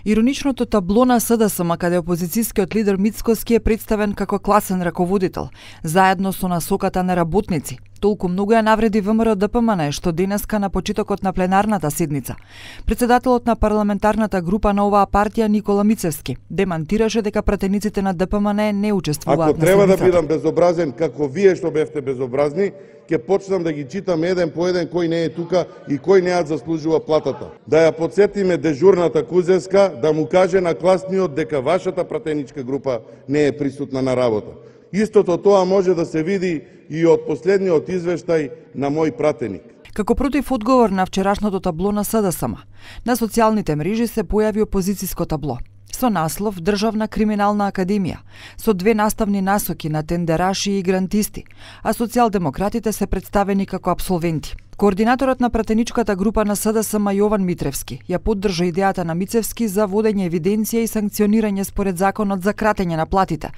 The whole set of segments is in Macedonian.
Ироничното табло на СДСМ, каде опозицијскиот лидер Мицкоски е представен како класен раководител, заедно со насоката на работници. Толку многу ја навреди ВМРО ДПМН, што денеска на почетокот на пленарната седница председателот на парламентарната група на оваа партија Никола Мицевски демантираше дека пратениците на ДПМН не учествуваат Ако на треба седницата. да бидам безобразен како вие што бевте безобразни, ќе почнам да ги читам еден по еден кој не е тука и кој не ја заслужува платата. Да ја подсетиме дежурната Кузевска да му каже на класниот дека вашата пратеничка група не е присутна на работа. Истото тоа може да се види и од последниот извештај на мој пратеник. Како против одговор на вчерашното табло на СДСМ, на социјалните мрежи се појави опозицијско табло со наслов Државна криминална академија, со две наставни насоки на тендераши и грантисти, а социјалдемократите се представени како апсолвенти. Координаторот на пратеничката група на СДСМ Јован Митревски ја поддржа идејата на Мицевски за водење евиденција и санкционирање според законот за кратење на платите.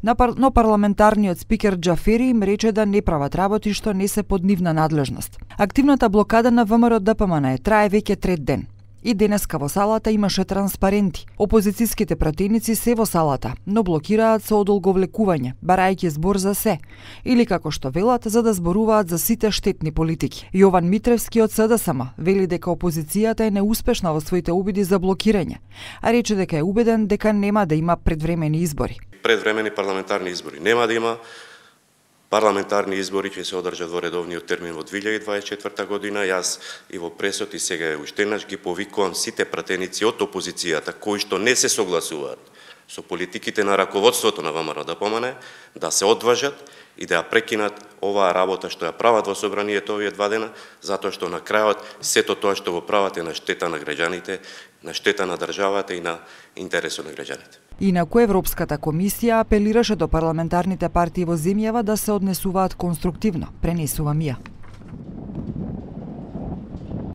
Но парламентарниот спикер Џафери им рече да не прават работи што не се под нивна надлежност. Активната блокада на ВМРО ДПМН трае веќе трет ден. И денеска во салата имаше транспаренти. Опозицијските пратеници се во салата, но блокираат со одолговлекување, барајќи збор за се, или како што велат, за да зборуваат за сите штетни политики. Јован Митревски од СДСМ вели дека опозицијата е неуспешна во своите обиди за блокирање, а рече дека е убеден дека нема да има предвремени избори. Предвремени парламентарни избори нема да има. Парламентарни избори ќе се одржат во редовниот термин во 2024 година. Јас и во пресот и сега уште еднаш ги повикувам сите пратеници од опозицијата кои што не се согласуваат со политиките на раководството на ВМРО ДПМН да се одважат и да ја прекинат оваа работа што ја прават во собранието овие 2 дена, затоа што на крајот сето тоа што го прават е на штета на граѓаните, на штета на државата и на интересот на граѓаните. Инаку Европската комисија апелираше до парламентарните партии во земјава да се однесуваат конструктивно, пренесува Мија.